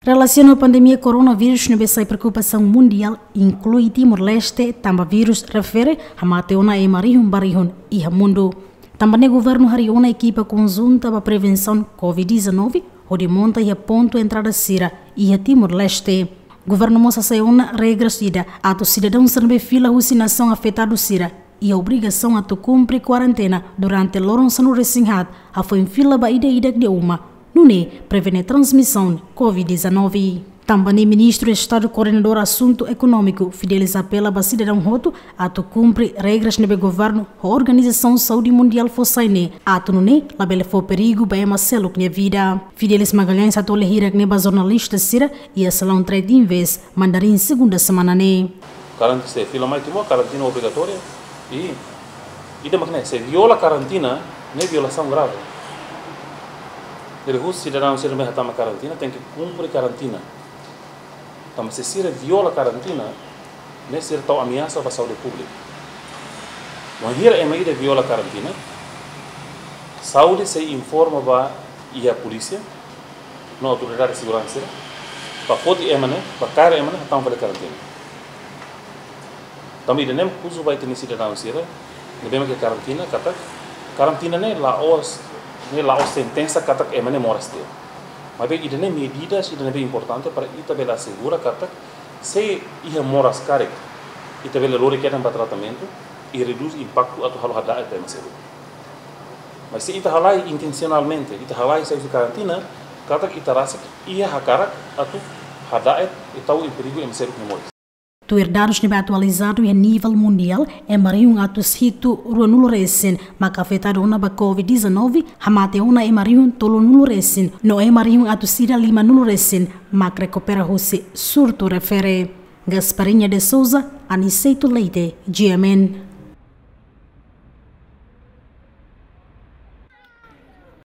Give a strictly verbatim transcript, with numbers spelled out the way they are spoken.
Relasiona ho pandemia koronavírus ne'ebé sai preokupasaun mundiál, inklui Timor-Leste, tanba vírus refere hamate ona ema rihun ba rihun iha mundu. Tanba ne'e governu harii ona ekipa konjunta ba prevensaun covid dezanove, hodi monta iha pontu entrada sira iha Timor-Leste. Governu mós hasai ona regras ida atu sidadaun sira ne'ebé fila husi nasaun afetadu sira iha obrigasaun atu kumpre kuarentena durante loron sanulu-resin-haat, hafoin fila ba ida-idak nia uma, nune'e prevene transmisaun covid dezanove. Tanba ne'e Ministru Estadu Koordenadór Asuntu Ekonómiku, Fidelis, apela ba sidadaun hotu atu kumpre regras ne'ebé governu ho Organizasaun Saúde Mundiál fó sai ne'e, atu nune'e labele fó perigu ba ema seluk nia vida. Fidelis Magalhães hato'o lia hirak ne'e ba jornalista sira iha Salaun Trade Invest, Mandarin, segunda semana ne'e. Karantina, se fila mai Timor, karantina obrigatória. I ida mak ne'e, se viola karantina, ne'e violasaun grave. Jadi husi sidadaun sira ne'ebé hatama karantina, tenke kumpre karantina. Tanba se sira viola karantina, ne'e sira tau ameasa ba saúde públika. Wainhira ema ida viola karantina, saúde sei informa ba iha polísia no autoridade seguransa sira, ba foti ema ne'e, ba kaer ema ne'e, hatama fali karantina. Tanba ida-ne'e mak husu ba ita-nia sidadaun sira ne'ebé mak iha karantina, katak karantina ne'e la'ós, ne'e la'ós sentensa katak ema ne'e moras tiha. Maibé ida-ne'e medidas ida ne'ebé importante para ita bele asegura katak se iha moras karik, ita bele lori kedan ba tratamentu i redús impaktu atu halo hada'et ba ema seluk. Mas se ita halai intensionalmente, ita halai sai husi karantina, katak ita rasik iha hakarak atu hada'et i tau iha perigu ema seluk nia moris. Tuir dadus ne'ebé atualizadu iha nivel mundiál, ema rihun atus hitu ruanulu resin maka afetadu ona ba covid dezanove, hamate ona ema rihun tolunulu resin, no ema rihun atus ida limanulu resin mak rekupera husi surtu refere. Gasparinha de Souza, Aniceto Leite, G M N.